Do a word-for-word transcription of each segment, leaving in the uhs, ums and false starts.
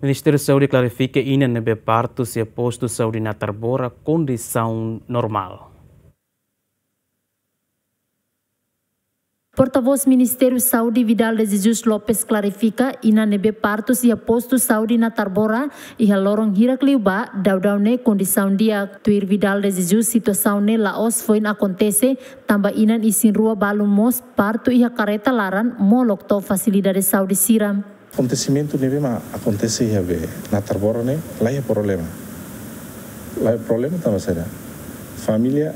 Ministériu Saúde klarifika inan ne'ebé partus iha postu saúde Natarbora kondisaun normál. Portavós Ministériu Saúde Vidal de Jesus Lopes klarifika inan ne'ebé partus iha postu saúde Natarbora iha loron hirak liubá daudaun ne'e kondisaun di'ak. Tuir Vidal de Jesus, situasaun ne'e la'ós foin akontese, tanba inan isin-rua balu mós partu iha karreta laran molok to'o fasilidade saúde sira. Akontesimentu ne'ebé mak akontese iha be Natarbora ne'e laiha problema. Laiha problema tanba saida? Família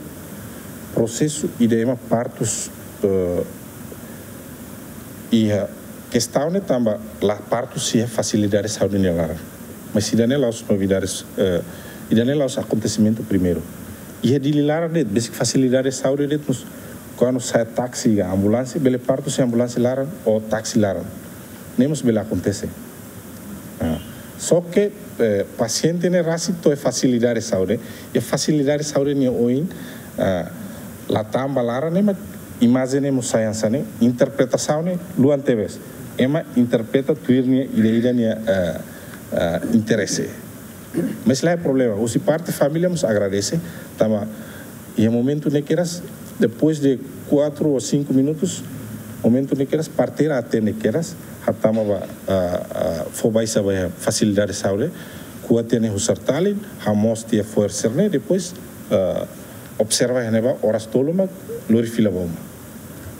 prosesu ida ema partus, eh, iha kestaun ne'e tanba la partus iha fasilidade saúde nia laran. Mas ida-ne'e la'ós novidades, eh, ida-ne'e la'ós akontesimentu primeiru. Iha Dili laran de'it, besik fasilidade saúde de'it mós, kuandu sa'e táksi ka ambulánsia, bele partus iha ambulánsia laran ou táksi laran. Ne'e mós bele akontese. Ah, só ke, eh, pasiente ne'e rasik to'o iha fasilidade saúde, iha fasilidade saúde nia oin, ah, la tama ba laran ne'e mak imajen ne'e mós sai hanesan ne'e, interpretasaun ne'e luan tebes. Ema interpreta tuir nia ida-idak nia, eh, eh, interese. Mas laiha problema, husi parte família mós agradese, tanba iha momentu ne'e kedas, depois de quatro ou cinco minutos, momentu ne'e kedas, parteira atende kedas, hatama ba, ah, ah, fó baixa ba iha fasilidade saúde, kuat tiha ne'e husar talin, hamoos tiha fo'er sira-ne'e, depois, ah, observa iha ne'ebá oras tolu mak lori fila ba uma.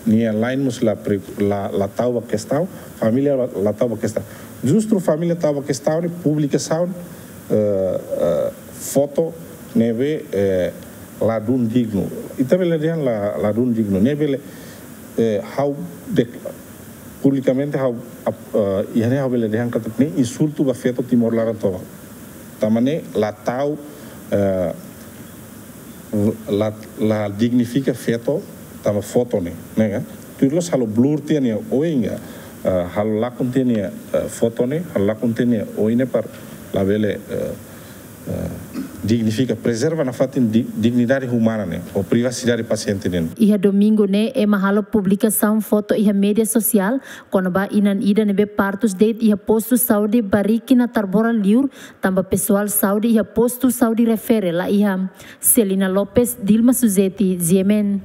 Nia lain mós la pre-, la, la tau ba kestaun, família la, la tau ba kestaun. Justu família tau ba kestaun ne'e publikasaun, eh, eh, foto ne'ebé, eh, ladún dignu. Ita bele dehan la, ladún dignu. Ne'e bele, eh, ha'u dek-, publikamente ha'u ap-, eh, iha ne'e ha'u bele dehan katak ne'e insultu ba feto Timor laran tomak. Tanba ne'e la tau, eh, la, la dignifika feto tanba foto ne'e, ne'e ka? Tuir loos halo blur tiha nia oin ka, eh, halo lakon tiha nia, eh, foto ne'e, halo lakon tiha nia oin ne'e para labele, eh, eh, dignifika, prezerva nafatin di-, dignidade umana ne'e, ou privasidade pasiente ne'e. Iha domingu ne'e, ema halo publikasaun foto iha média sosiál, kona-ba inan ida ne'ebé partus de'it iha postu saúde Bariki Natarbora liur, tanba pesoál saúde iha postu saúde refere laiha. Celina Lopes, Dilma Suzeti, G M N.